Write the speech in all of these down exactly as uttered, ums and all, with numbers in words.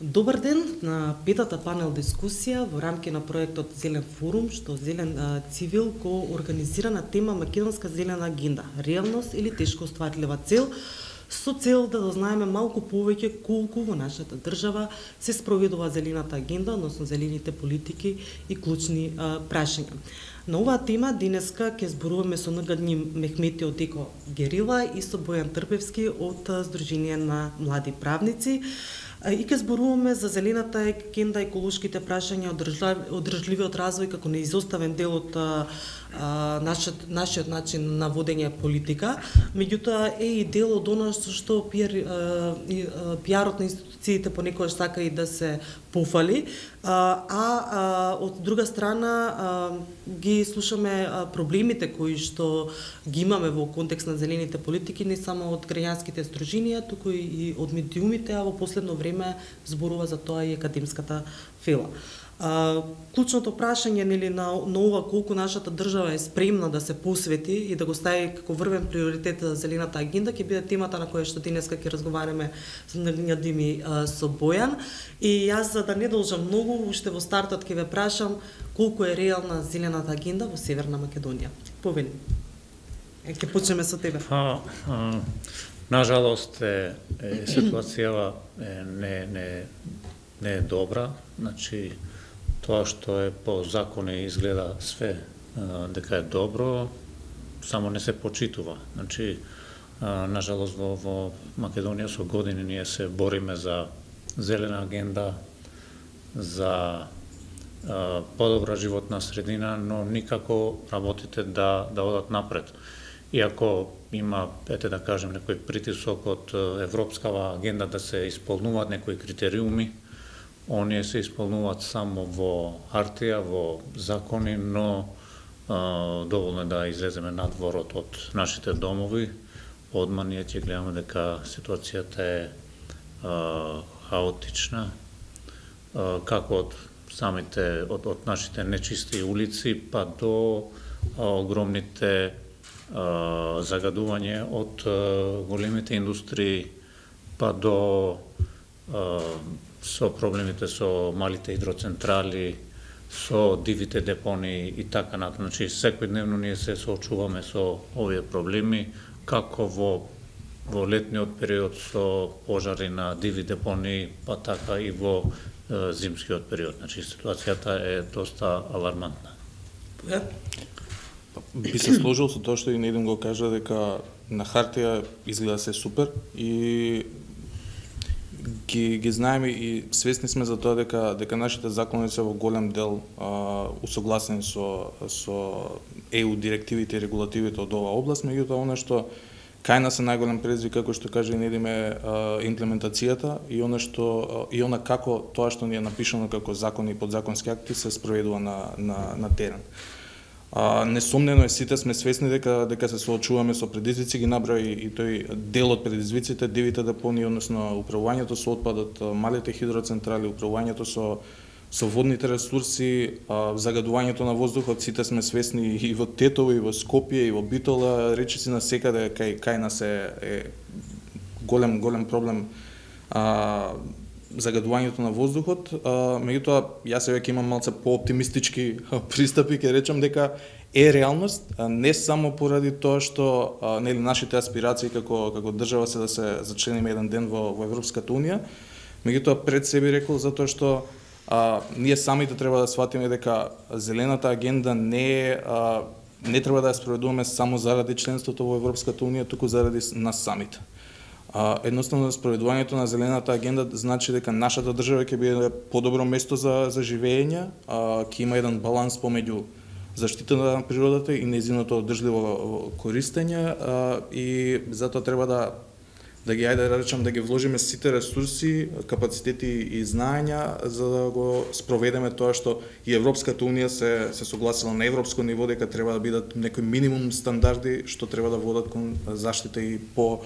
Добар ден на петата панел дискусија во рамки на проектот Зелен форум, што Зелен а, цивил го организира на тема Македонска зелена агенда, реалност или тешко остварлива цел, со цел да дознаеме малку повеќе колку во нашата држава се спроведува зелената агенда, односно зелените политики и клучни а, прашања. На оваа тема денеска ќе зборуваме со Нргадни Мехмети од Еко Герила и со Бојан Трпевски од Сдружение на млади правници. И ќе зборуваме за зелената агенда, еколошките прашања, одржливиот развој како неизоставен дел од а, нашиот, нашиот начин на водење политика, меѓутоа е и дел од она што пиар, пиарот на институциите понекогаш сака и да се пофали, а, а од друга страна а, ги слушаме а, проблемите кои што ги имаме во контекст на зелените политики, не само од граѓанските сдруженија, туку и од медиумите, а во последно време зборува за тоа и академската фела. А, клучното прашање нели на, на ова колку нашата држава е спремна да се посвети и да го стави како врвен приоритет за зелената агенда ќе биде темата на која што денеска ќе разговараме со Нргадни со Бојан. И јас за да не должам многу, уште во стартот ќе ве прашам колку е реална зелената агенда во Северна Македонија. Повели. Е, ќе почнеме со тебе. А, а, нажалост е, е ситуацијава е, не не не е добра, значи тоа што е по закони изгледа све а, дека е добро, само не се почитува. Значи, а, нажалост во, во Македонија со години ние се бориме за зелена агенда, за а, подобра животна средина, но никако работите да, да одат напред. Иако има, ете да кажем, некој притисок од европскава агенда да се исполнуваат некои критериуми, оние се исполнуваат само во хартија, во закони, но а, доволно е да излеземе надворот од нашите домови. Одма ние ќе гледаме дека ситуацијата е а, хаотична, а, како од самите, од, од нашите нечисти улици, па до а, огромните а, загадување од а, големите индустрии, па до а, со проблемите со малите хидроцентрали, со дивите депонии и така натаму. Значи, секојдневно ние се соочуваме со овие проблеми, како во, во летниот период со пожари на диви депонии, па така и во е, зимскиот период. Значи, ситуацијата е доста алармантна. Би се сложил со тоа што и Недим го кажа, дека на хартија изгледа се супер и Ги, ги знаеме и свесни сме за тоа дека дека нашите закони се во голем дел а, усогласени со со Е У директивите и регулативите од оваа област, меѓутоа она што кај нас е најголем предизвик, како што каже Недим, е имплементацијата и она што и она како тоа што ни е напишано како закони и подзаконски акти се спроведува на на на терен. А, несомнено е, сите сме свесни дека дека се соочуваме со предизвици, ги набрави и тој дел од предизвиците, дивите депонии, односно управувањето со отпадот, малите хидроцентрали, управувањето со со водните ресурси, а, загадувањето на воздухот, сите сме свесни и во Тетово, и во Скопје, и во Битола, речиси на секаде кај кај нас е, е голем голем проблем а, загадувањето на воздухот, меѓутоа јас веќе имам малце пооптимистички пристапи, ќе речам дека е реалност, не само поради тоа што нели нашите аспирации како како држава се да се зачлениме еден ден во во Европската унија, меѓутоа пред се би рекол затоа што а, ние самите треба да сватиме дека зелената агенда не е а, не треба да ја спроведуваме само заради членството во Европската унија, туку заради нас самите. А, едноставно, спроведувањето на зелената агенда значи дека нашата држава ќе биде подобро место за, за живење, а, ќе има еден баланс помеѓу заштитата на природата и нејзиното одржливо користење, а, и затоа треба да да ги ајде да речам да ги вложиме сите ресурси, капацитети и знаења за да го спроведеме тоа што и Европската унија се се согласила на европско ниво дека треба да бидат некои минимум стандарди што треба да водат кон заштита и по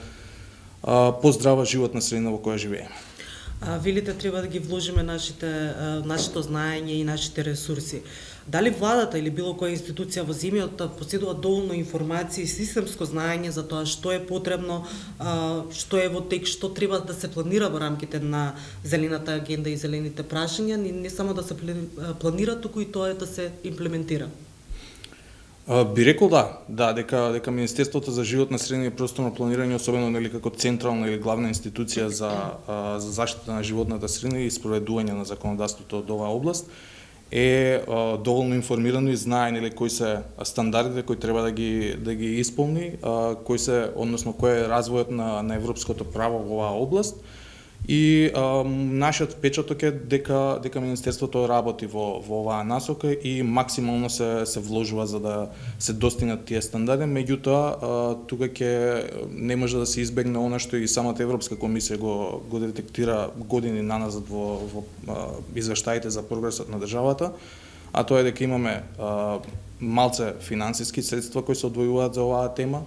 поздрава животна средина во која живееме. А, велите треба да ги вложиме нашите, нашето знаење и нашите ресурси. Дали владата или било која институција во земјата поседува доволно информации и системско знаење за тоа што е потребно, што е во тек, што треба да се планира во рамките на зелената агенда и зелените прашања, не, не само да се планира, туку и тоа е да се имплементира? Би рекол да, да, дека дека Министерството за животна средина и просторно планирање, особено нели како централна или главна институција за за заштита на животната средина и спроведување на законодавството од оваа област, е а, доволно информирано и знае нели кои се стандардите кои треба да ги да ги исполни, а, кои се, односно кој е развојот на на европското право во оваа област. И а, нашиот впечаток е дека дека Министерството работи во во оваа насока и максимално се се вложува за да се достигнат тие стандарди, меѓутоа тука ќе не може да се избегне она што и самата Европска комисија го го детектира години наназад во во извештаите за прогресот на државата, а тоа е дека имаме а, малце финансиски средства кои се одвојуваат за оваа тема,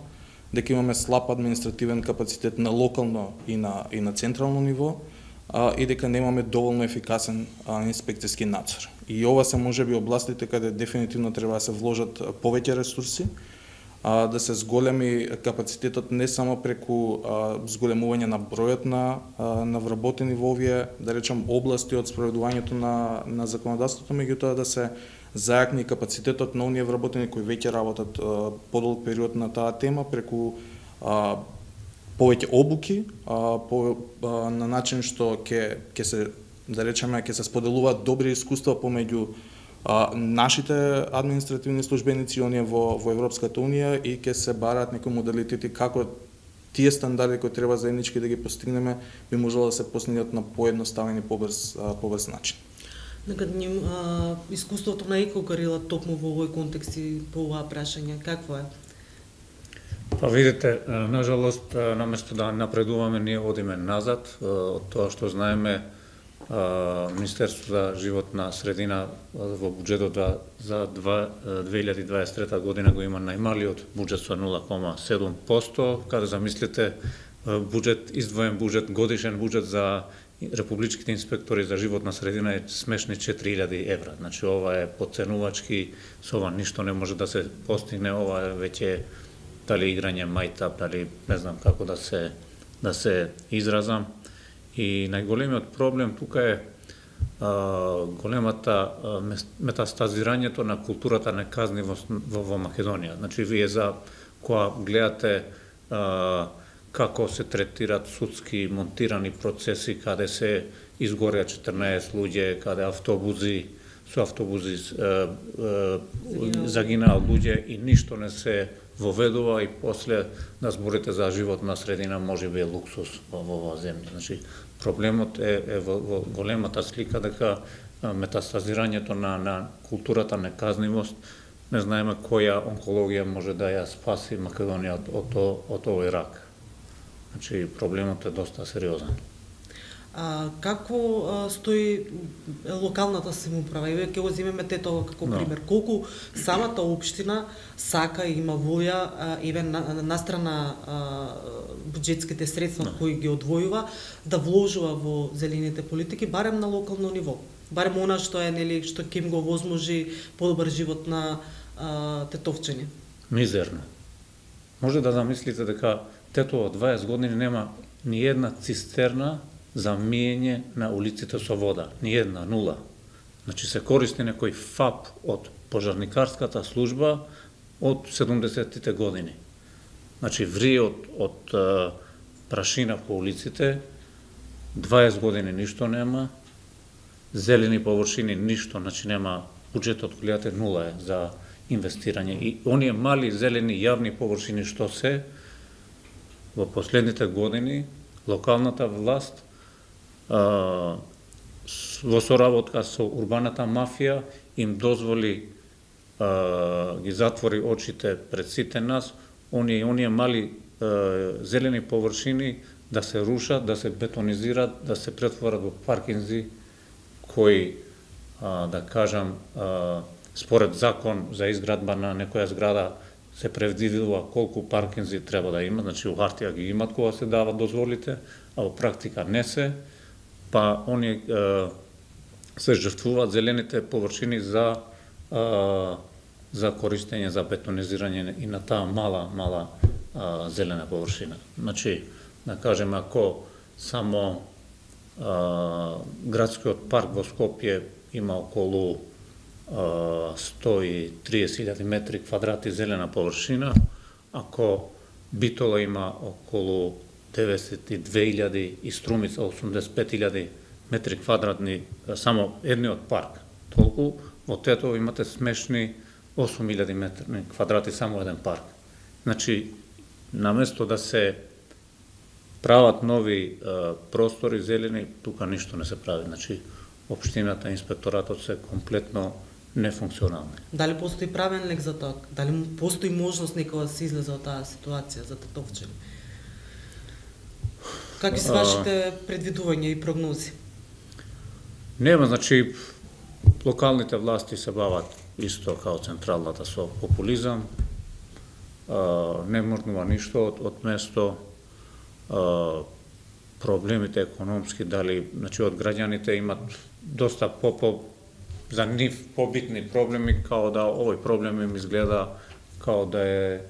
дека имаме слаб административен капацитет на локално и на и на централно ниво, а, и дека немаме доволно ефикасен а, инспекцијски надзор. И ова се можеби областите каде дефинитивно треба да се вложат повеќе ресурси, а, да се зголеми капацитетот не само преку а, зголемување на бројот на а, на вработени во овие, да речем, области од спроведувањето на на законодавството, меѓутоа да се зајакни капацитетот на оние вработени кои веќе работат а, подолг период на таа тема преку а, повеќе обуки, а, по, а, на начин што ќе ќе се, да речеме, ќе се споделуваат добри искуства помеѓу а, нашите административни службеници и оние во во Европската унија и ќе се бараат некои модалитети како тие стандарди кои треба заеднички да ги постигнеме би можело да се постигнат на поедноставен и побрз побрз начин. Нека ним а, искуството на Екогорила токму во овој контекст и по оваа прашање, какво е? Па видите, нажалост, наместо да напредуваме, ние одиме назад. Од тоа што знаеме, Министерството за животна средина во буџетот за две илјади дваесет и трета година го има најмалиот буџет со нула кома седум посто, каде замислите буџет, издвоен буџет, годишен буџет за републичките инспектори за животна средина е смешни четири илјади евра. Значи ова е потценувачки, со ова ништо не може да се постигне, ова е веќе дали играње мајтап, дали не знам како да се да се изразам. И најголемиот проблем тука е а, големата а, метастазирањето на културата неказнивост во, во Македонија. Значи вие за кога гледате а, како се третираат судски монтирани процеси, каде се изгореа четрнаесет луѓе, каде автобузи, со автобузи е, е, загинаа луѓе и ништо не се воведува и после да зборите за животна средина може би е луксус во оваа земја. Значи проблемот е, е во, во големата слика дека метастазирањето на, на културата неказнивост, не знаеме која онкологија може да ја спаси Македонија од, од, од овој рак. Значи, проблемот е доста сериозен. А, како а, стои локалната самоуправа? И ќе го земеме Тетово како no. пример. Колку самата општина сака и има волја, а, еве на, настрана а, буџетските средства no. кои ги одвојува, да вложува во зелените политики, барем на локално ниво. Барем она што е, нели, што ќе им го возможи подобар живот на а, тетовчани. Мизерно. Може да замислите дека Тетово дваесет години нема ни една цистерна за миење на улиците со вода. Ни една, нула. Значи се користи некој ФАП од пожарникарската служба од седумдесеттите години. Значи врие од, од а, прашина по улиците, дваесет години ништо нема, зелени површини ништо, значи нема, буџетот гледате нула е за инвестирање. И оние мали зелени јавни површини што се, во последните години локалната власт а, во соработка со урбаната мафија им дозволи а, ги затвори очите пред сите нас, оние оние мали а, зелени површини да се рушат, да се бетонизират, да се претворат во паркинзи кои а, да кажам а, според закон за изградба на некоја зграда се предвидува колку паркинзи треба да има, значи у хартија ги имат кога се дават дозволите, а во практика не се. па они се жртвуваат зелените површини за за користење за бетонизирање и на таа мала мала а, зелена површина. Значи, да кажеме, ако само а, градскиот парк во Скопје има околу а, сто и триесет илјади метри квадрати зелена површина, ако Битола има околу деветдесет и две илјади и Струмица осумдесет и пет илјади метри квадратни, само едниот парк, толку во Тетово имате смешни осум илјади метри квадрати само еден парк. Значи, наместо да се прават нови е, простори зелени, тука ништо не се прави. Значи, општината, инспекторатот се комплетно нефункционални. Дали постои правен лек за тоа? Дали постои можност некоја да се излезе од таа ситуација за Тетовчани? Какви се вашите предвидувања и прогнози? Нема, значи, локалните власти се бават исто као централната со популизам, а, не мрднува ништо од, од место, а, проблемите економски, дали, значи, од граѓаните имат доста по, по за нив побитни проблеми, као да овој проблем им изгледа као да е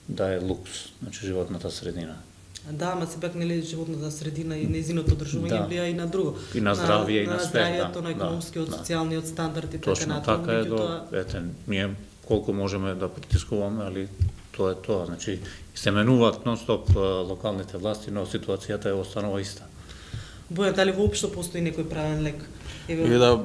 да е лукс, значи животната средина. Да, ама сепак нели животната средина и нејзиното одржување да. влија и на друго. И на здравје, и на, на све. здравјето, да, на економскиот, да, социјалниот стандард и точно така натаму. така е до, тоа... ете, ние колку можеме да притискуваме, али тоа е тоа. Значи, се менуваат нон-стоп локалните власти, но ситуацијата е останува иста. Боја, дали воопшто постои некој правен лек? Еве да,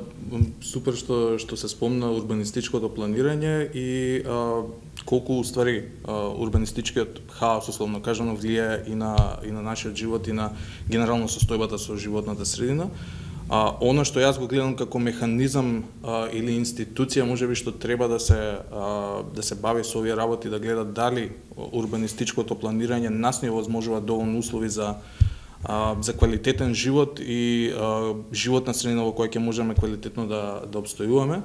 супер што што се спомна урбанистичкото планирање и а, колку уствари а, урбанистичкиот хаос, условно кажано, влијае и на и на нашиот живот и на генерално состојбата со животната средина. А она што јас го гледам како механизам а, или институција можеби што треба да се а, да се бави со овие работи, да гледа дали урбанистичкото планирање нас не овозможува доволно услови за а, за квалитетен живот и а, животна средина во која ќе можеме квалитетно да да обстојуваме.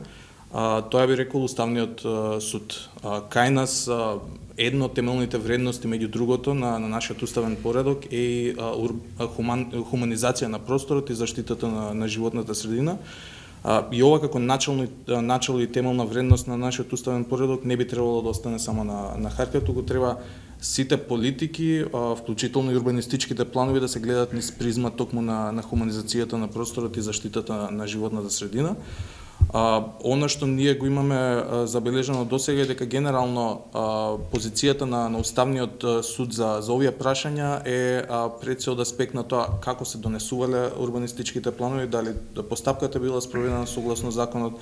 А, тоа би рекол Уставниот а, суд. А, кај нас а, едно од темелните вредности меѓу другото на, на нашиот уставен поредок е а, ур, а, хуман, хуманизација на просторот и заштитата на, на животната средина. А, и ова како начално, начало и темелна вредност на нашиот уставен поредок не би требало да остане само на, на хартија, туку треба сите политики, а, вклучително и урбанистичките планови да се гледат низ призма токму на, на хуманизацијата на просторот и заштитата на, на животната средина. А, она што ние го имаме а, забележано досега е дека генерално а, позицијата на, на Уставниот суд за, за овие прашања е а, пред се од аспект на тоа како се донесувале урбанистичките планови, дали постапката била спроведена согласно законот,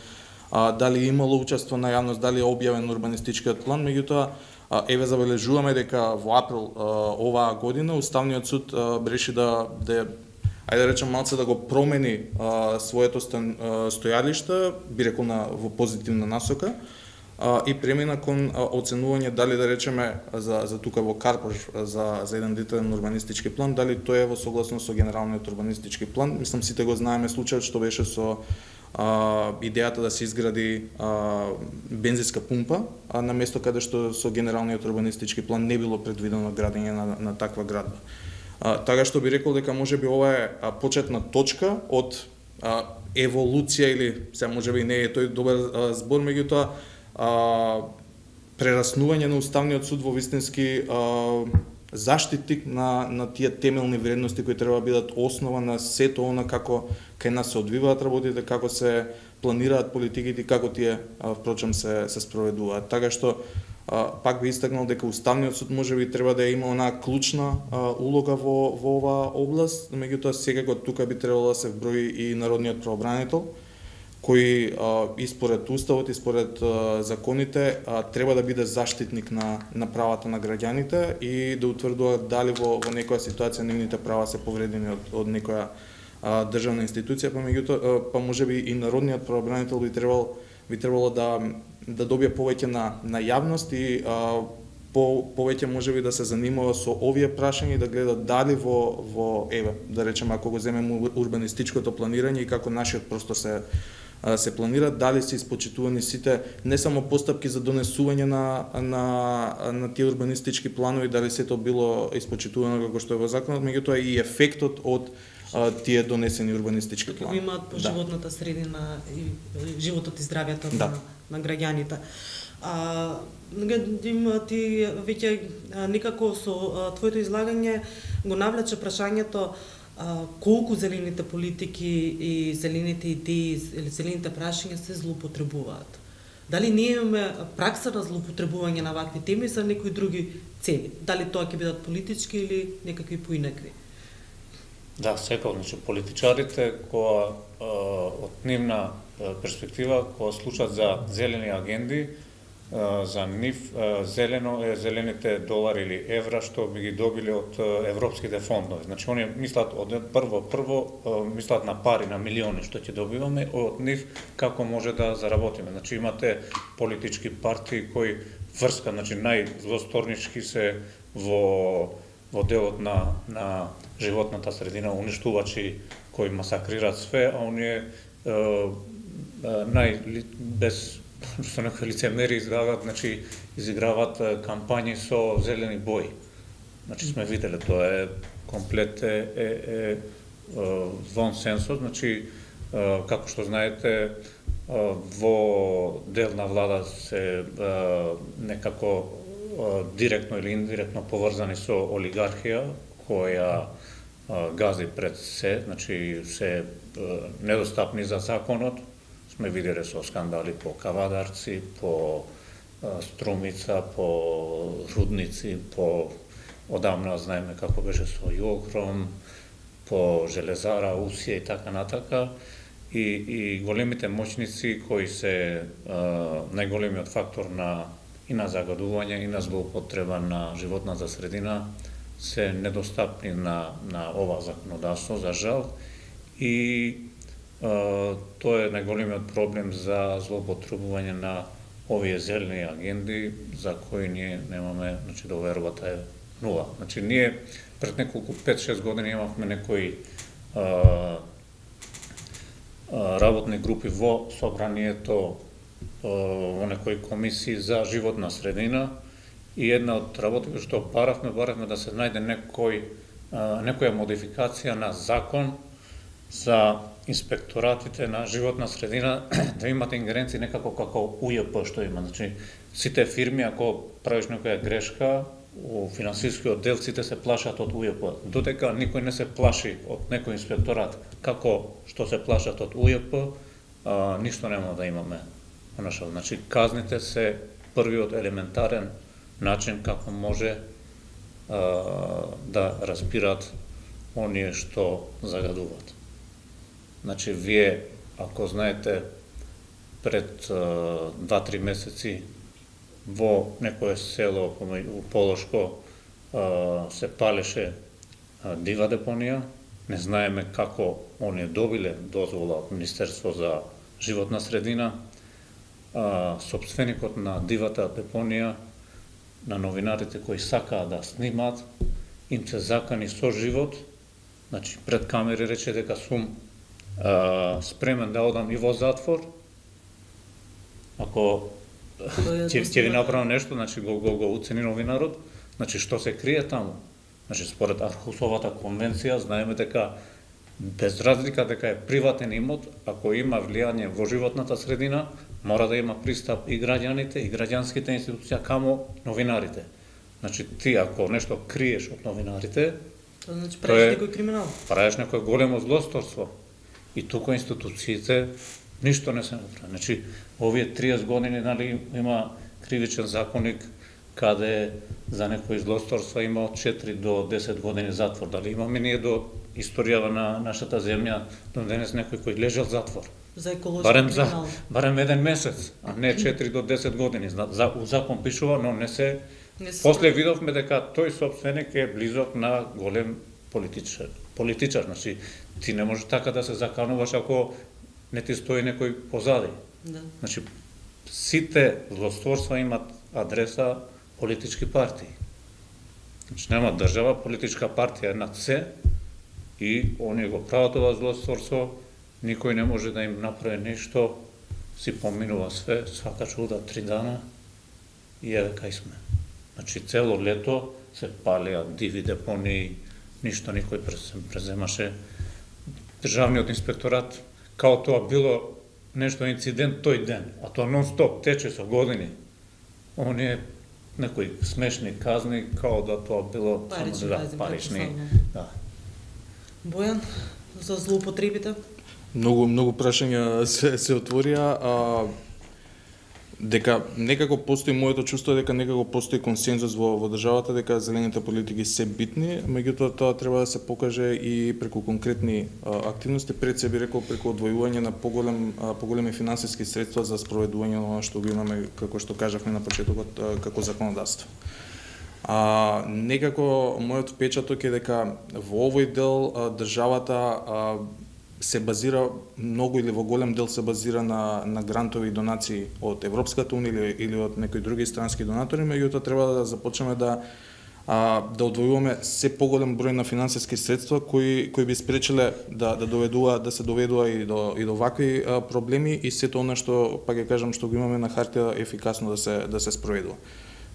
а, дали имало учество на јавност, дали е објавен урбанистичкиот план. Меѓутоа, еве забележуваме дека во април а, оваа година Уставниот суд а, реши да да ајде да речем малце да го промени а, своето стан, а, стојалиште, би рекол на во позитивна насока, а, и премина кон а, оценување дали да речеме за за тука во Карпош за за еден детален урбанистички план, дали тоа е во согласно со генералниот урбанистички план. Мислам сите го знаеме случајот што беше со а, идејата да се изгради а, бензинска пумпа, а на место каде што со генералниот урбанистички план не било предвидено градење на, на таква градба. А, така што би рекол дека можеби ова е а, почетна точка од а, еволуција или се можеби не е тој добар а, збор, меѓутоа прераснување на Уставниот суд во вистински а, заштитник на на тие темелни вредности кои треба да бидат основа на сето она како кај нас се одвиваат работите, како се планираат политиките и како тие а, впрочем се се спроведуваат. Така што а, пак би истакнал дека Уставниот суд можеби треба да има онаа клучна а, улога во во оваа област, меѓутоа секако тука би требало да се вброи и народниот правобранител, кој а, и според уставот и според а, законите а, треба да биде заштитник на на правата на граѓаните и да утврдува дали во во некоја ситуација нивните права се повредени од од некоја а, државна институција, па меѓутоа па можеби и народниот правобранител би требал би требало да да добие повеќе на на јавност и а, по повеќе можеби да се занимава со овие прашања и да гледа дали во во еве да речеме ако го земеме урбанистичкото планирање и како нашиот простор се се планира, дали се испочитувани сите не само постапки за донесување на на на тие урбанистички планови, дали сето било испочитувано како што е во законот, меѓутоа и ефектот од а, тие донесени урбанистички планови. Имаат по животната средина и животот и здравјето да. на, на граѓаните. А, има ти веќе некако со твоето излагање го навлече прашањето а, колку зелените политики и зелените идеи или зелените прашања се злоупотребуваат. Дали ние имаме пракса на злоупотребување на вакви теми за некои други цели? Дали тоа ќе бидат политички или некакви поинакви? Да, секако, значи политичарите кои од нивна перспектива кои слушаат за зелени агенди, за нив зелено е зелените долари или евра што би ги добили од европските фондови. Значи оние мислат од прво прво мислат на пари, на милиони што ќе добиваме, од нив како може да заработиме. Значи имате политички партии кои врска, значи најзлосторнички се во во делот на на животната средина, уништувачи кои масакрираат све, а оние нај без што некои лицемери изиграваат, значи изиграваат кампањи со зелени бои. Значи сме виделе, тоа е комплет е, е, е, вон сенсот, значи како што знаете во дел на влада се некако директно или индиректно поврзани со олигархија која гази пред се, значи се недостапни за законот. Сме виделе со скандали по Кавадарци, по Струмица, по Рудници, по одамна знаеме како беше со Јогром, по Железара, Усија и така натака. И, и големите моќници кои се а, најголемиот фактор на и на загадување и на злоупотреба на животната средина се недостапни на на ова законодавство, за жал. И Uh, тоа е најголемиот проблем за злоупотребување на овие зелени агенди за кои ние немаме, значи довербата е нула. Значи ние пред неколку пет-шест години имавме некои uh, uh, работни групи во собранието, uh, во некои комисии за животна средина и една од работите што баравме, баравме да се најде некој uh, некоја модификација на закон за инспекторатите на животна средина да имат ингеренции некако како У Ј П што има. Значи, сите фирми, ако правиш некоја грешка, у финансискиот дел сите се плашат од У Ј П. Додека никој не се плаши од некој инспекторат како што се плашат од У Ј П, а, ништо нема да имаме. Значи, казните се првиот елементарен начин како може а, да разбират оние што загадуваат. Значи, вие, ако знаете, пред два-три месеци во некое село у Полошко се палеше дива депонија, не знаеме како оние добиле дозвола од Министерство за животна средина, сопственикот на дивата депонија, на новинарите кои сакаа да снимаат, им се закани со живот, значи пред камери рече дека сум Uh, спремен да одам и во затвор, ако ќе ви направам нешто, значи го, го, го уцени новинарот, значи што се крие таму. Значи според Архусовата конвенција знаеме дека без разлика дека е приватен имот, ако има влијание во животната средина, мора да има пристап и граѓаните и граѓанските институции каму новинарите. Значи ти ако нешто криеш од новинарите, тоа значи правиш некој криминал. Правиш некој големо злосторство. И тука институциите ништо не се направи. Значи, овие триесет години, нали, има кривичен законник каде за некои злосторства има од четири до десет години затвор. Дали имаме ние до историјава на нашата земја до денес некој кој лежал затвор? За еколошки барем криминал. За, барем еден месец, а не четири до десет години. За, у закон пишува, но не се... Не се После видовме дека тој собственик е близок на голем политичар. Политичар, значи, ти не можеш така да се закануваш ако не ти стои некој позади. Да. Значи, сите злосторства имат адреса политички партии. Значи, нема држава, политичка партија е над се и оние го прават ова злосторство, никој не може да им направи нешто, си поминува све, свака чуда, три дана и еве кај сме. Значи, цело лето се палеа диви депонии, ништо никој преземаше државниот инспекторат, као тоа било нешто инцидент тој ден, а тоа нон-стоп тече со години. Оние некои смешни казни, као да тоа било парични, да, парични. Да. Бојан, за злоупотребите? Многу многу прашања се се отворија, а дека некако постои моето чувство дека некако постои консензус во во државата дека зелените политики се битни, меѓутоа тоа треба да се покаже и преку конкретни а, активности, пред се би рекол преку одвојување на поголем а, поголеми финансиски средства за спроведување на она што го имаме, како што кажавме на почетокот, а, како законодавство. А, некако мојот впечаток е дека во овој дел а, државата а, се базира многу или во голем дел се базира на на грантови и донации од Европската унија или, или од некои други странски донатори, меѓутоа треба да започнеме да а, да одвојуваме се поголем број на финансиски средства кои кои би спречиле да да доведува да се доведува и до и до вакви а, проблеми и сето она што па ќе кажам што го имаме на хартија ефикасно да се да се спроведува.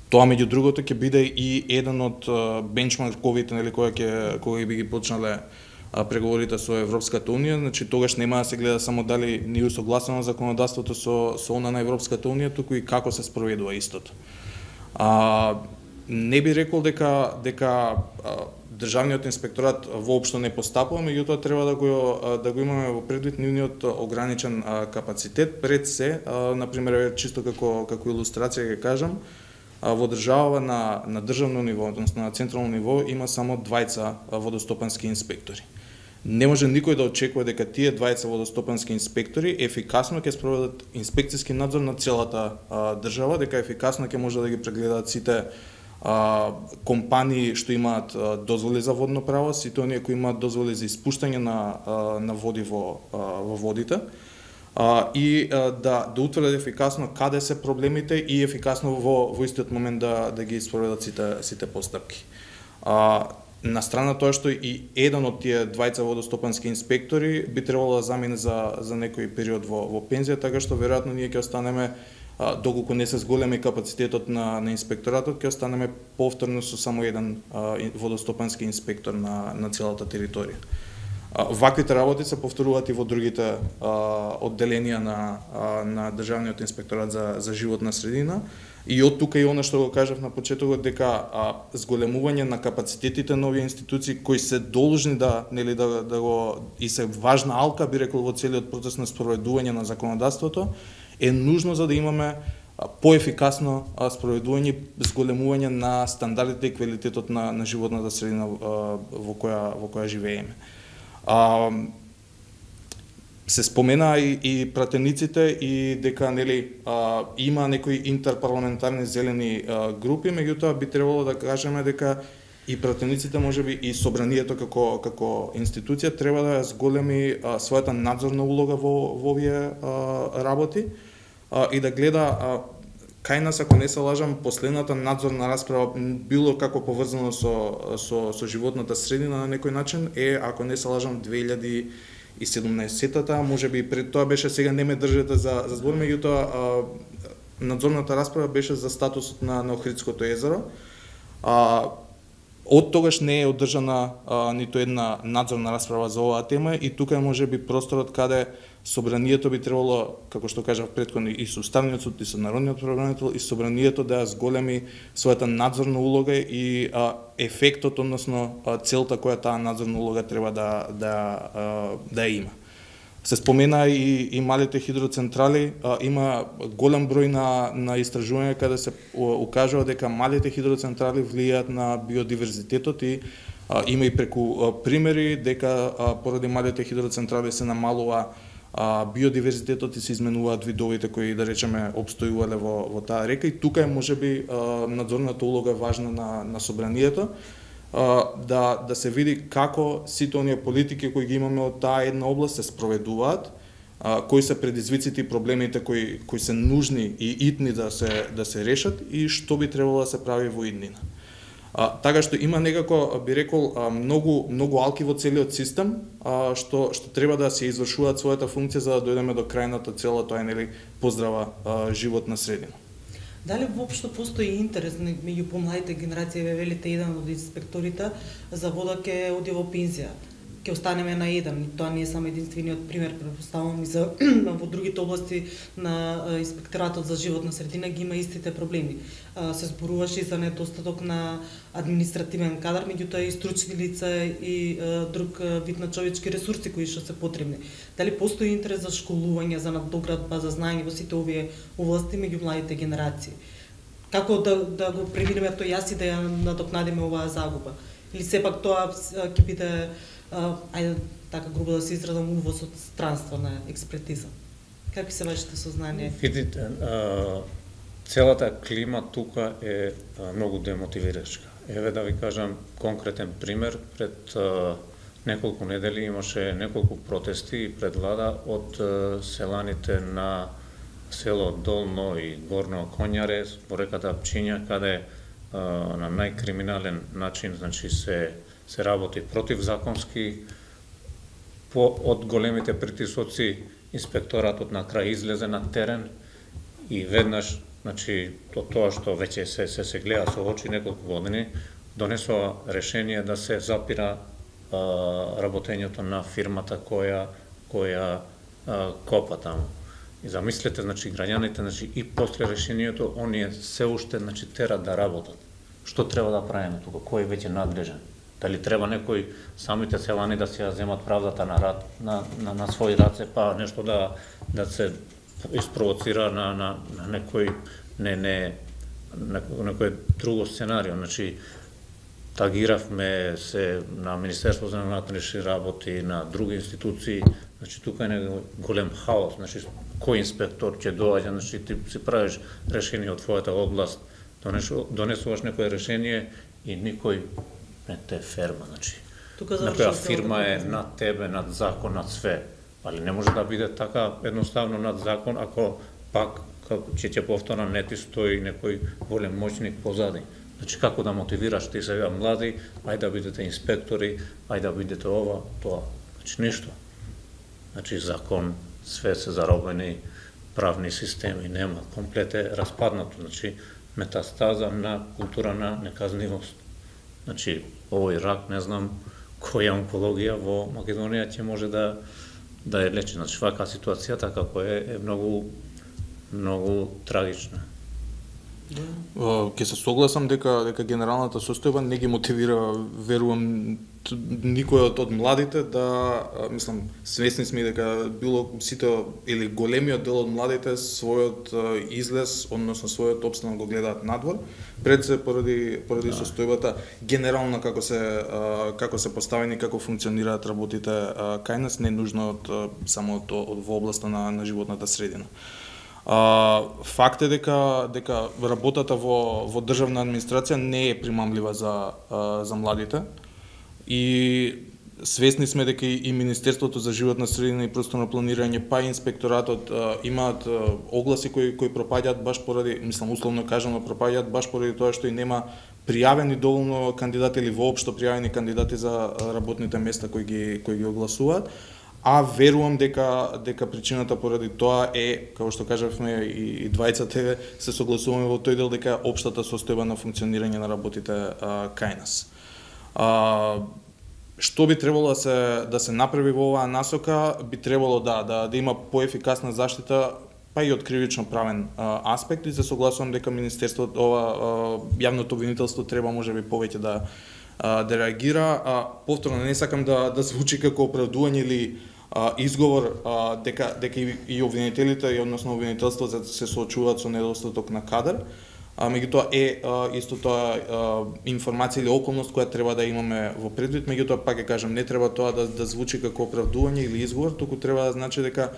Тоа меѓу другото ќе биде и еден од бенчмарковите, нели, која ќе кога би ги почнале а преговорите со Европската унија, значи тогаш нема да се гледа само дали ни усогласено законодавството со со она на Европската унија, туку и како се спроведува истото. А не би рекол дека дека а, државниот инспекторат воопшто не постапува, меѓутоа треба да го да го имаме во предвид нивниот ограничен а, капацитет пред се, а, на пример чисто како како илустрација ќе кажам, а, во држава на на државно ниво, односно на централно ниво има само двајца водостопански инспектори. Не може никој да очекува дека тие двајца водостопански инспектори ефикасно ќе спроведат инспекцијски надзор на целата а, држава, дека ефикасно ќе може да ги прегледаат сите а, компании што имаат а, дозволи за водно право, сите оние кои имаат дозволи за испуштање на а, на води во а, во водите. А, и а, да да утврдат ефикасно каде се проблемите и ефикасно во во истиот момент да да ги спроведат сите сите постапки. А, на страна тоа што и еден од тие двајца водостопански инспектори би требало да замине за за некој период во во пензија, така што веројатно ние ќе останеме, а, доколку не се зголеми капацитетот на на инспекторатот, ќе останеме повторно со само еден а, водостопански инспектор на на целата територија. Ваквите работи се повторуваат и во другите а, одделенија на а, на државниот инспекторат за за животна средина, и од тука и она што го кажав на почетокот дека а, зголемување на капацитетите на овие институции кои се должни да нели да да го и се важна алка би рекол во целиот процес на спроведување на законодавството е нужно за да имаме поефикасно спроведување, зголемување на стандардите и квалитетот на на животната средина а, во која во која живееме. А, се спомена и, и пратениците и дека нели а, има некои интерпарламентарни зелени а, групи, меѓутоа би требало да кажеме дека и пратениците, можеби и собранието како како институција треба да зголеми а, својата надзорна улога во во овие а, работи а, и да гледа а, кај нас, ако не се лажам, последната надзорна расправа било како поврзано со со со животната средина на некој начин е, ако не се лажам, две илјади и седумнаесетта, можеби и пред тоа беше, сега не ме држете за за збор, меѓутоа надзорната расправа беше за статусот на на Охридското езеро. А од тогаш не е одржана а, ниту една надзорна расправа за оваа тема и тука е можеби просторот каде собранието би требало, како што кажав претходно, и со Уставниот суд, и со Народниот правобранител, и собранието да зголеми својата надзорна улога и а, ефектот, односно а, целта која таа надзорна улога треба да да а, да има. Се спомена и, и малите хидроцентрали, а, има голем број на на истражувања каде се укажува дека малите хидроцентрали влијаат на биодиверзитетот и а, има и преку а, примери дека а, поради малите хидроцентрали се намалува а, биодиверзитетот и се изменуваат видовите кои, да речеме, обстојувале во во таа река, и тука е можеби а, надзорната улога важна на на собранието, а, да да се види како сите оние политики кои ги имаме од таа една област се спроведуваат, а, кои се предизвиците и проблемите кои кои се нужни и итни да се да се решат и што би требало да се прави во иднина. А, така што има некако, би рекол, многу многу алки во целиот систем, а, што што треба да се извршуваат својата функција за да дојдеме до крајната цела, тоа е нели поздрава а, животна средина. Дали воопшто постои интерес меѓу помладите генерации, ве велите еден од инспекторите за вода ќе оди во пензија? ќе останеме на еден. Тоа не е само единствениот пример, претпоставувам и за во другите области на инспекторатот за животна средина ги има истите проблеми. Се зборуваше и за недостаток на административен кадар, меѓутоа и стручни лица и друг вид на човечки ресурси кои што се потребни. Дали постои интерес за школување, за надоградба, за знаење во сите овие области меѓу младите генерации? Како да, да го преминеме тој јас и да ја надокнадиме оваа загуба? Или сепак тоа ќе биде, ајде така грубо да се изразам, увоз од странство на експертиза? Какви се вашите сознанија? Видите, целата клима тука е многу демотивирачка. Еве да ви кажам конкретен пример. Пред неколку недели имаше неколку протести пред влада од селаните на село Долно и Горно Конјаре во реката Пчиња, каде на најкриминален начин, значи се се работи противзаконски. По од големите притисоци инспекторатот на крај излезе на терен и веднаш, значи то тоа што веќе се се се гледа со очи неколку години, донесува решение да се запира а, работењето на фирмата која која а, копа таму. И замислете, значи граѓаните, значи и после решението оние се уште, значи терат да работат. Што треба да правиме тука? Кој е веќе надлежен? Дали треба некој самите селани да се ја земат правдата на рад, на, на, на своји раце, па нешто да да се испровоцира на на на некој не не некој друго сценарио. Значи тагиравме се на Министерство за внатрешни работи, на други институции. Значи тука е голем хаос. Значи кој инспектор ќе доаѓа, значи ти си правиш решение од твојата област, донесуваш некое решение и никој не те ферма, значи. Некоја фирма е над тебе, над закон, над све. Али не може да биде така едноставно над закон, ако пак, ќе ќе повторам, не ти стои некој голем моćник позади. Значи како да мотивираш ти сега млади, ајде да бидете инспектори, ајде да бидете ова, тоа. Значи ништо. Значи закон, све се заробени, правни системи нема, комплет е распаднато. Значи метастаза на култура на неказнивост. Значи овој рак, не знам која онкологија во Македонија ќе може да да е лечи. Значи вака ситуацијата како е е многу многу трагична. Ќе се согласам дека дека генералната состојба не ги мотивира, верувам, никој од младите да, мислам, свесни сме дека било сите или големиот дел од младите својот излез, односно својот опстанок го гледаат надвор, пред се поради поради да. Состојбата генерално како се како се поставени, како функционираат работите кај нас, не нужно од само од, од во областа на на животната средина. Uh, факт е дека дека работата во во државна администрација не е примамлива за uh, за младите и свесни сме дека и Министерството за животна средина и просторно планирање, па и инспекторатот uh, имаат uh, огласи кои кои пропаѓаат баш поради, мислам условно кажано, пропаѓаат баш поради тоа што и нема пријавени доволно кандидати или воопшто пријавени кандидати за работните места кои ги кои ги огласуваат. А верувам дека дека причината поради тоа е, како што кажавме и, и двајцата, се согласуваме во тој дел дека општата состојба на функционирање на работите а, кај нас. А, што би требало да се да се направи во оваа насока? Би требало да да, да има поефикасна заштита, па и од кривично правен а, аспект, и се согласувам дека министерството, ова а, јавното обвинителство треба можеби повеќе да да реагира. А, повторно не сакам да да звучи како оправдување или а, изговор а, дека дека и, и обвинителите и односно обвинителството се соочуваат со недостаток на кадар. А меѓутоа е а, исто тоа а, информација или околност која треба да имаме во предвид, меѓутоа пак ќе кажам, не треба тоа да да звучи како оправдување или изговор, туку треба да значи дека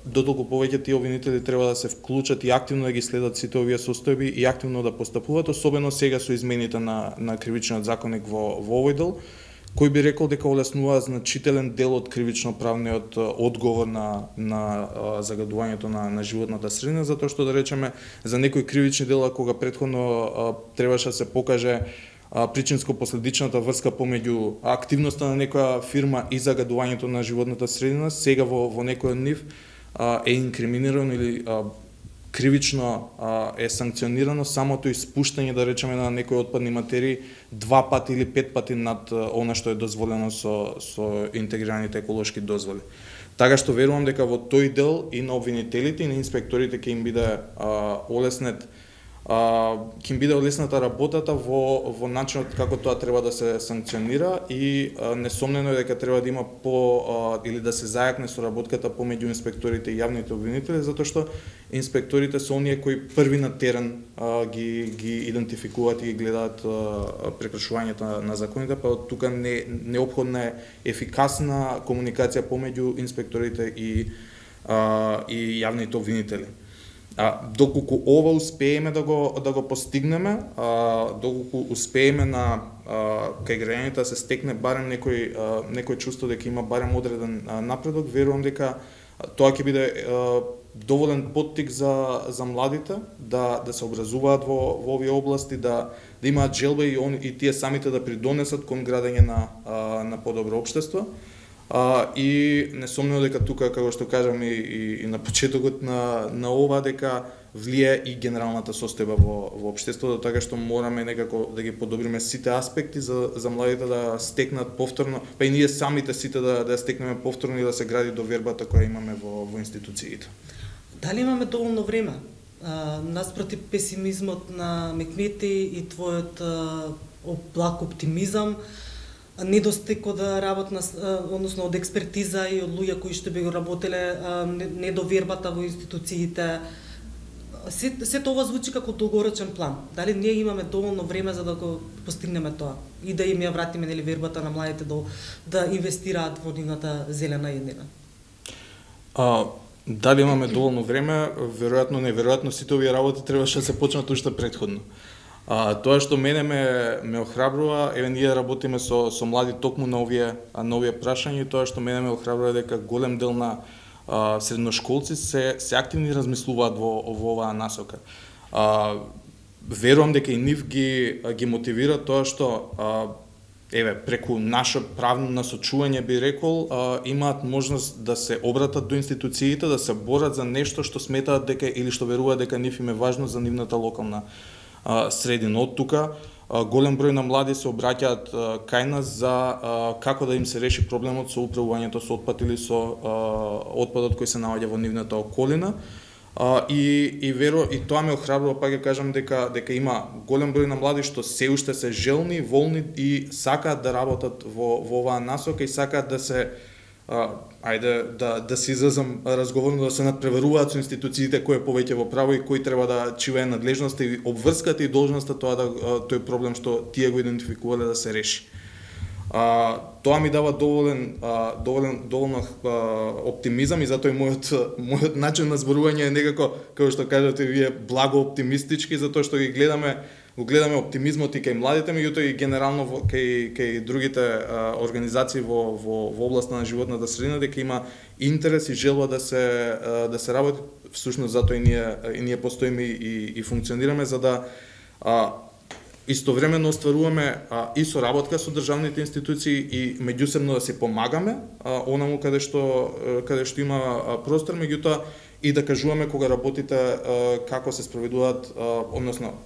додолку повеќе тие обвинители треба да се вклучат и активно да ги следат сите овие состојби и активно да постапуваат, особено сега со измените на на кривичниот законник во во овој дел, кој би рекол дека олеснува значителен дел од кривично-правниот одговор на на загадувањето на на животната средина, затоа што да речеме за некои кривични дела кога претходно требаше да се покаже причинско-последичната врска помеѓу активноста на некоја фирма и загадувањето на животната средина, сега во во некој од нив е инкриминирано или кривично а, е санкционирано самото испуштање, да речеме, на некои отпадни материи два пати или пет пати над она што е дозволено со, со интегрираните еколошки дозволи. Така што верувам дека во тој дел и на обвинителите и на инспекторите ќе им биде а, олеснет ќе им биде олесната работата во во начинот како тоа треба да се санкционира и а, несомнено е дека треба да има по а, или да се зајакне соработката помеѓу инспекторите и јавните обвинители, затоа што инспекторите се оние кои први на терен а, ги ги идентификуваат и ги гледаат а, прекршувањето на, на законите, па од тука не неопходна е ефикасна комуникација помеѓу инспекторите и а, и јавните обвинители. А, доколку ова успееме да го да го постигнеме, а, доколку успееме на а, кај граѓаните да се стекне барем некој а, некој чувство дека има барем одреден а, напредок, верувам дека тоа ќе биде а, доволен поттик за за младите да да се образуваат во во овие области, да да имаат желба и он и тие самите да придонесат кон градење на а, на подобро општество. А, и несомнено дека тука, како што кажам и, и, и на почетокот на, на ова, дека влие и генералната состојба во, во општеството, така што мораме некако да ги подобриме сите аспекти за, за младите да стекнат повторно, па и ние самите сите да, да стекнеме повторно и да се гради довербата која имаме во, во институциите. Дали имаме доволно време? А, наспроти песимизмот на Мекмети и твојот а, благ оптимизам, недостиг од работна, односно од експертиза и од луѓе кои што би го работеле, недовербата во институциите. Се, се тоа звучи како долгорочен план. Дали ние имаме доволно време за да го постигнеме тоа и да им ја вратиме нели вербата на младите да, да инвестираат во нивната зелена еднина? А, дали имаме доволно време? Веројатно, неверојатно, сите овие работи требаше да се почнат уште претходно. А, тоа што мене ме, ме охрабрува, еве ние работиме со, со млади токму на овие, на овие прашања, и тоа што мене ме охрабрува дека голем дел на а, средношколци се, се активни размислуваат во, во оваа насока. А, верувам дека и нив ги, ги мотивира тоа што а, еве преку наше правно насочување би рекол, а, имаат можност да се обратат до институциите, да се борат за нешто што сметаат дека или што веруваат дека нив им е важно за нивната локална средина. Од тука голем број на млади се обраќаат кај нас за како да им се реши проблемот со управувањето со отпад или со отпадот кој се наоѓа во нивната околина. И и веро и тоа ме охрабрува, пак ќе кажам дека дека има голем број на млади што се уште се желни, волни и сакаат да работат во во оваа насока и сакаат да се А, ајде да да се изразам разговорно, да се надпреваруваат со институциите кои е повеќе во право и кои треба да чивее надлежноста и обврската и должноста тоа да тој проблем што тие го идентификувале да се реши. А, тоа ми дава доволен а, доволен доволно а, оптимизам и затоа и мојот мојот начин на зборување е некако, како што кажате вие, благо оптимистички, затоа што ги гледаме го гледаме оптимизмот и кај младите, меѓутоа и генерално кај кај другите а, организации во во во областа на животната средина, дека има интерес и желба да се а, да се работи. Всушност затоа и ние и ние постоиме и и функционираме за да а, истовремено остваруваме а, и соработка со државните институции и меѓусебно да се помагаме а, онаму каде што каде што има а, простор, меѓутоа и да кажуваме кога работите а, како се спроведуваат, а, односно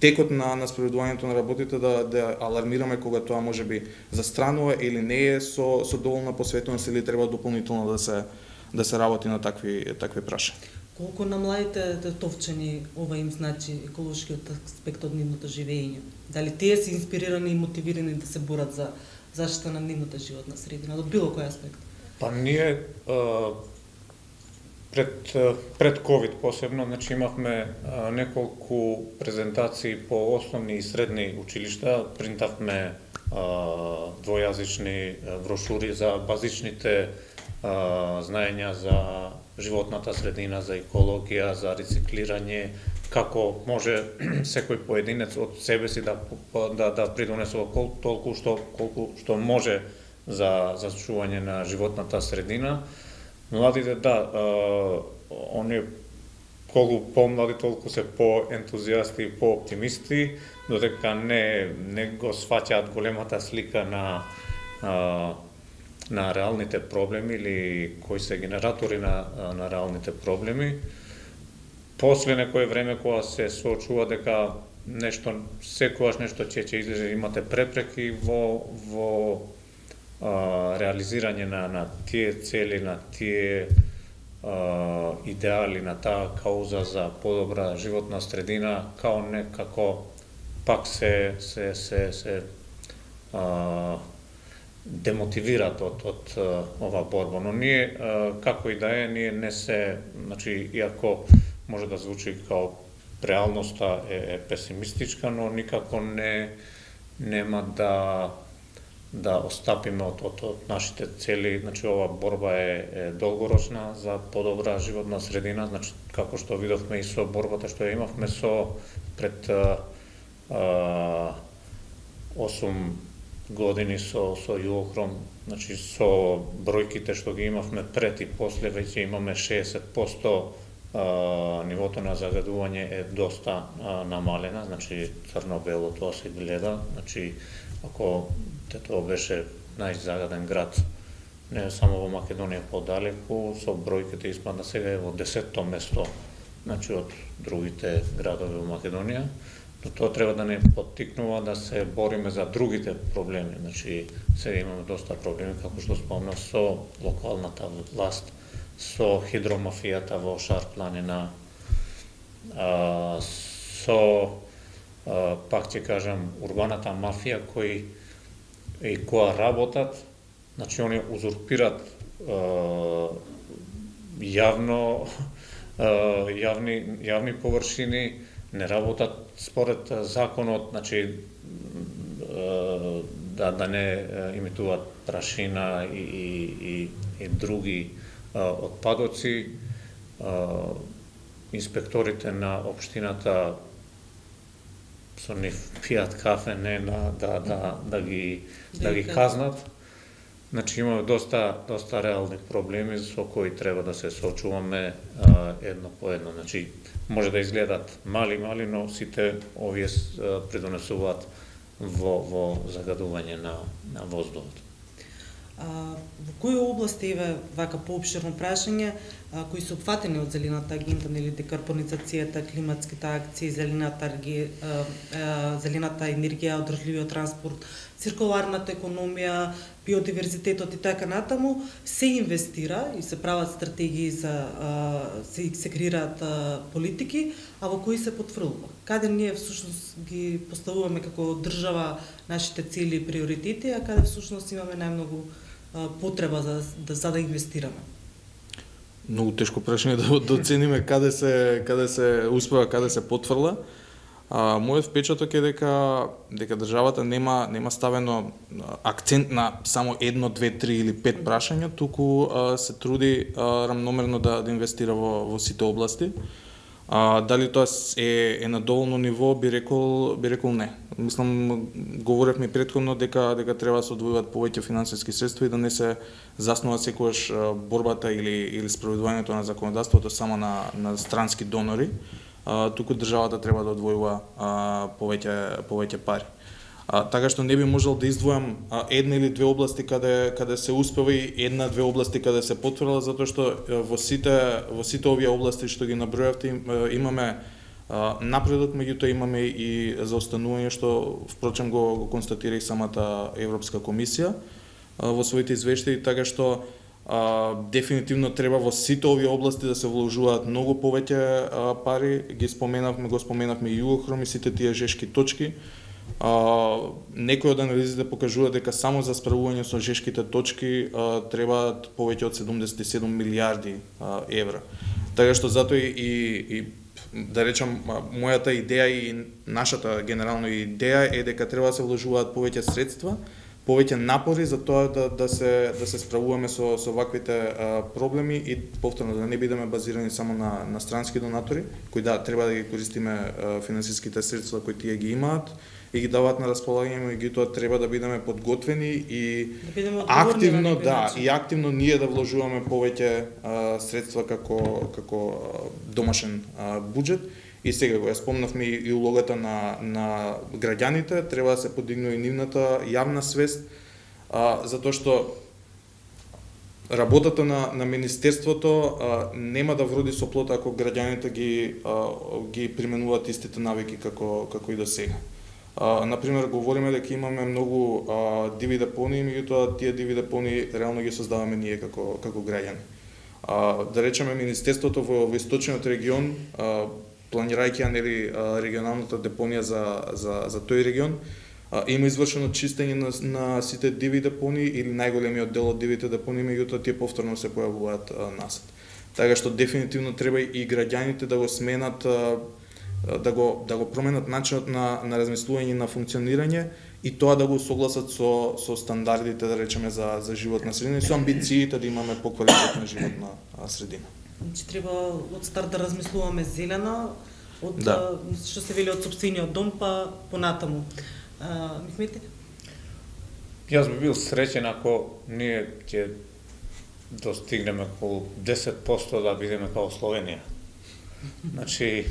текот на на спроведувањето на работите, да да алармираме кога тоа можеби застранува или не е со со доволна посветеност или треба дополнително да се да се работи на такви такви прашања. Колку на младите тетовчани ова им значи еколошкиот аспект од нивното живење? Дали тие се инспирирани и мотивирани да се борат за заштита на нивната животна средина од било кој аспект? Па ние а, пред пред ковид посебно, значи имавме а, неколку презентации по основни и средни училишта, принтавме а, двојазични брошури за базичните а, знаења за животната средина, за екологија, за рециклирање, како може секој поединец од себе си да да да придонесе толку што колку што може за за чување на животната средина. Младите, да, они колку помлади, толку се поентузијасти и пооптимисти, додека не не го сваќаат големата слика на а, на реалните проблеми или кои се генератори на на реалните проблеми. после некое време кога се соочува дека нешто секогаш нешто ќе ќе излезе, имате препреки во во а, реализирање на на тие цели, на тие а, идеали, на таа кауза за подобра животна средина, као некако пак се се се се а, демотивират од од ова борба, но ние а, како и да е, ние не се, значи иако може да звучи као реалноста е, е песимистичка, но никако не нема да да остапиме од, од, од нашите цели. Значи ова борба е, е долгорочна за подобра животна средина, значи како што видовме и со борбата што ја имавме со пред а, а, осум години со со Југохром, значи со бројките што ги имавме пред и после, веќе имаме шеесет потоа Uh, нивото на загадување е доста uh, намалена, значи црно-бело тоа се гледа, значи ако Тетово беше најзагаден град не само во Македонија подалеку, со бројките испадна сега е во десетто место, значи од другите градови во Македонија, но тоа треба да не поттикнува да се бориме за другите проблеми, значи сега имаме доста проблеми, како што спомнав, со локалната власт, со хидромафијата во Шар планина, а, со а, пак ќе кажам урбаната мафија кои и која работат, значи они узурпират а, јавно а, јавни јавни површини, не работат според законот, значи а, да да не имитуваат прашина и и и, и други отпадоци. Инспекторите на општината со нив пијат кафе, не на да да да ги да ги казнат. Значи имаме доста доста реални проблеми со кои треба да се соочуваме едно по едно. Значи може да изгледат мали мали, но сите овие придонесуваат во во загадување на на воздухот. А, во кои области, еве вака поопширно прашање, а, кои се опфатени од зелената агенда, нели декарбонизацијата, климатските акции, зелената, а, а, зелената енергија, одржливиот транспорт, циркуларната економија, биодиверзитетот и така натаму, се инвестира и се прават стратегии за а, се, се креираат а, политики, а во кои се потврлува? Каде ние всушност ги поставуваме како држава нашите цели и приоритети, а каде всушност имаме најмногу а, потреба за да за да инвестираме? Многу тешко прашање да доцениме каде се каде се успева, каде се потврла. А, мојот впечаток е дека дека државата нема нема ставено акцент на само едно, две, три или пет прашања, туку а, се труди а, рамномерно да, да инвестира во во сите области. А, дали тоа е, е на доволно ниво, би рекол би рекол не. Мислам, говоревме претходно дека дека треба да се одвојуваат повеќе финансиски средства и да не се заснува секогаш борбата или или спроведувањето на законодавството само на на странски донори. А, туку државата треба да одвојува а, повеќе повеќе пари. А, така што не би можел да издвојам а, една или две области каде каде се успева и една две области каде се потврдила, затоа што во сите во сите овие области што ги набројавте имаме а, напредок, меѓутоа имаме и заостанување што впрочем го, го констатира и самата Европска комисија а, во своите извештаи, така што а, дефинитивно треба во сите овие области да се вложуваат многу повеќе а, пари. Ги споменавме, го споменавме и Југохром и сите тие жешки точки. Uh, некои од анализите покажуваат дека само за справување со жешките точки uh, требаат повеќе од седумдесет и седум милијарди uh, евра. Така што затоа и, и, и да речам, мојата идеја и нашата генерална идеја е дека треба да се вложуваат повеќе средства, повеќе напори за тоа да да се да се справуваме со со ваквите uh, проблеми и повторно да не бидеме базирани само на на странски донатори, кои да треба да ги користиме uh, финансиските средства кои тие ги имаат и ги даваат на располагање, меѓутоа треба да бидеме подготвени и да активно да и активно ние да вложуваме повеќе а, средства како како домашен а, буџет. И сега го ја спомнавме и улогата на на граѓаните, треба да се подигне и нивната јавна свест, а, затоа што работата на на министерството а, нема да вроди со плод ако граѓаните ги а, ги применуваат истите навики како како и до сега. А, например, говориме дека имаме многу а, диви депонии, меѓутоа тие диви депонии реално ги создаваме ние како како граѓани. А, да речеме министерството во, во источниот регион, а, планирајќи ја нели регионалната депонија за за за тој регион, а, има извршено чистење на, на сите диви депонии или најголемиот дел од дивите депонии, меѓутоа тие повторно се појавуваат а, насад. Така што дефинитивно треба и граѓаните да го сменат, а, да го да го променат начинот на на размислување, на функционирање и тоа да го согласат со со стандардите, да речеме, за за животна средина и со амбициите да имаме поквалитетна животна средина. Значи треба од старт да размислуваме зелена, од да. што се вели од сопствениот дом па понатаму. Михмете? Јас би бил среќен ако ние ќе достигнеме околу десет проценти да бидеме као Словенија. Значи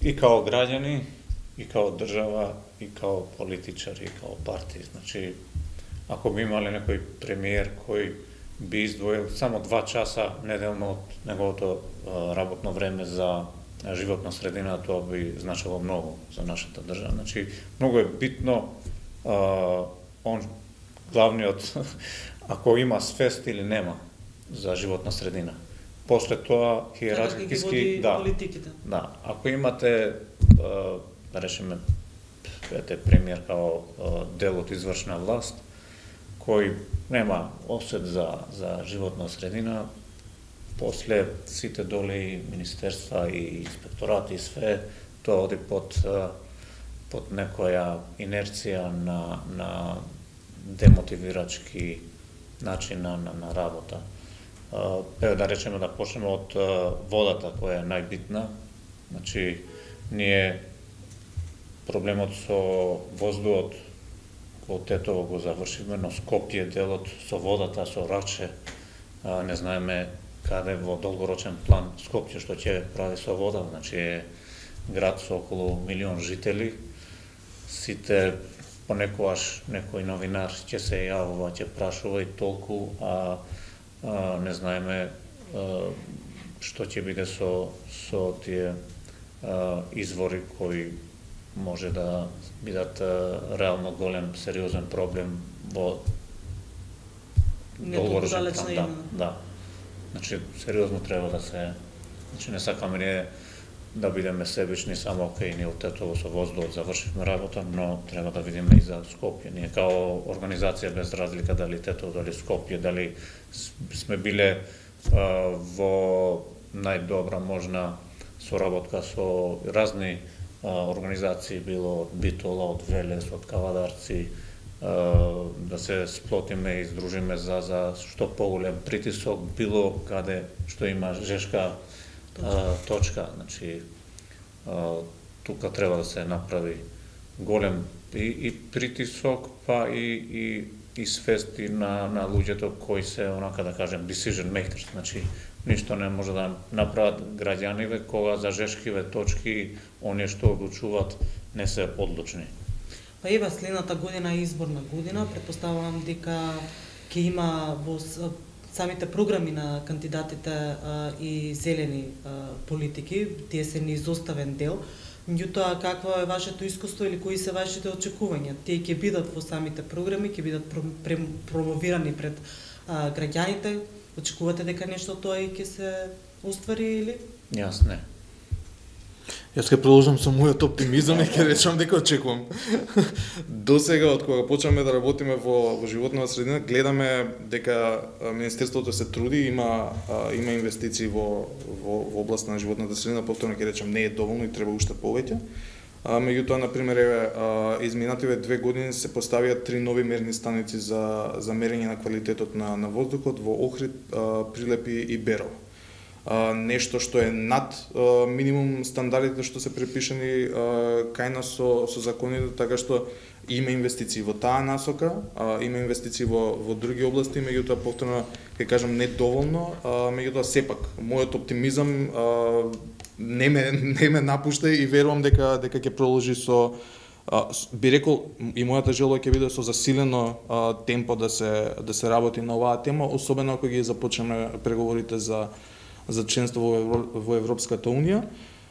и као граѓани, и као држава, и као политичари, и као партии. Значи, ако би имале некој премиер кој би издвоил само два часа неделно од неговото работно време за животна средина, тоа би значило многу за нашата држава. Значи, многу е битно а, он главниот ако има свест или нема за животна средина. После тоа хиерархиски, да, политиките. Да, ако имате да речеме ете премиер као дел од извршна власт кој нема осет за за животна средина, после сите доле министерства и инспекторати и све тоа оди под под некоја инерција на на демотивирачки начин на, на, на работа. Еве да речеме да почнеме од водата која е најбитна. Значи ние проблемот со воздухот во Тетово го завршивме, но Скопје делот со водата, со Раче, не знаеме каде во долгорочен план Скопје што ќе прави со вода. Значи е град со околу милион жители. Сите понекогаш некој новинар ќе се јавува, ќе прашува и толку, а, а не знаеме а, што ќе биде со со тие а, извори кои може да бидат а, реално голем, сериозен проблем во долгорочен план. Да, да. Значи сериозно треба да се, значи не сакаме ние да бидеме себични само окей, ние од Тетово со воздухот завршивме работа, но треба да видиме и за Скопје. Ние као организација без разлика дали Тетово, дали Скопје, дали сме биле а, во најдобра можна соработка со разни а, организации, било од Битола, од Велес, од Кавадарци, а, да се сплотиме и издружиме за за што поголем притисок било каде што има жешка точка. А, точка. Значи а, тука треба да се направи голем и, и притисок, па и и и свести на на луѓето кои се онака да кажем decision makers. Значи ништо не може да направат граѓаниве кога за жешкиве точки оние што одлучуваат не се одлучни. Па ева следната година е изборна година, претпоставувам дека ќе има во самите програми на кандидатите а, и зелени а, политики, тие се неизоставен дел. Меѓутоа, какво е вашето искуство или кои се вашите очекувања? Тие ќе бидат во самите програми, ќе бидат промовирани пред а, граѓаните? Очекувате дека нешто тоа и ќе се оствари или? Јас не. Јас ќе продолжам со мојот оптимизам и ќе речам дека очекувам. До сега, од кога почнаме да работиме во, во животна средина, гледаме дека Министерството се труди, има, има инвестиции во, во, во област на животната средина, повторно ќе речам, не е доволно и треба уште повеќе. Меѓутоа, например, еве, изминативе две години се поставија три нови мерни станици за, за мерење на квалитетот на, на воздухот во Охрид, Прилепи и Берово. Uh, нешто што е над uh, минимум стандардите што се препишани uh, кај нас со, со законите, така што има инвестиции во таа насока, uh, има инвестиции во, во други области, меѓутоа повторно ќе кажам не доволно, uh, меѓутоа сепак мојот оптимизам uh, не ме не ме напушта и верувам дека дека ќе продолжи со А, би рекол и мојата желба ќе биде со засилено а, темпо да се да се работи на оваа тема, особено ако ги започнеме преговорите за за членство во, Евро, во Европската унија,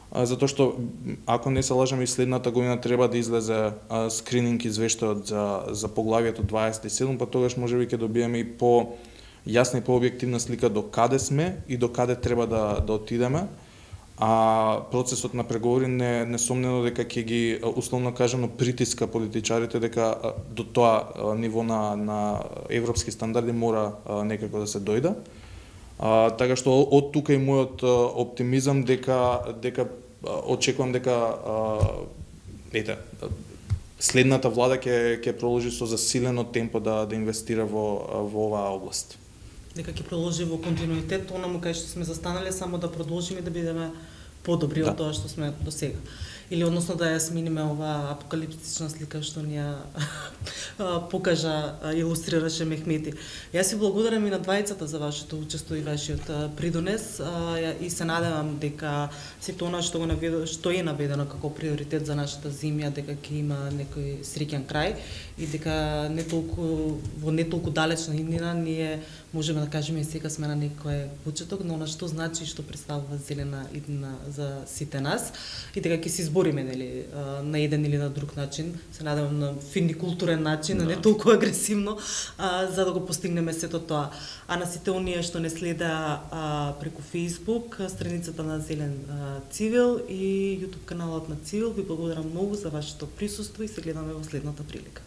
а, затоа што ако не се лажам и следната година треба да излезе а, скрининг извештајот за за поглавието дваесет и седум, па тогаш можеби ќе добиеме и по јасна и по-објективна слика до каде сме и до каде треба да да отидеме. А процесот на преговори не несомнено дека ќе ги условно кажано притиска политичарите дека до тоа ниво на на европски стандарди мора некако да се дојде. А, така што од тука и мојот оптимизам дека дека очекувам дека ете следната влада ќе ќе продолжи со засилено темпо да да инвестира во во оваа област. Дека ќе продолжи во континуитет онаму кај што сме застанале, само да продолжиме да бидеме подобри да. од тоа што сме до сега. Или односно да ја смениме оваа апокалиптична слика што ни ја покажа, илустрираше Мехмети. Јас ви благодарам и на двајцата за вашето учество и вашиот придонес и се надевам дека сето она што го наведено, што е наведено како приоритет за нашата земја, дека ќе има некој среќен крај и дека не толку во не толку далечна иднина ние можеме да кажеме и сега сме на некој почеток, но она што значи и што представува зелена иднина за сите нас и дека ќе се избориме нели на еден или на друг начин, се надевам на фин и културен начин, да. а не толку агресивно, а, за да го постигнеме сето тоа. А на сите оние што не следа а, преку Facebook, страницата на Зелен а, Цивил и YouTube каналот на Цивил, ви благодарам многу за вашето присуство и се гледаме во следната прилика.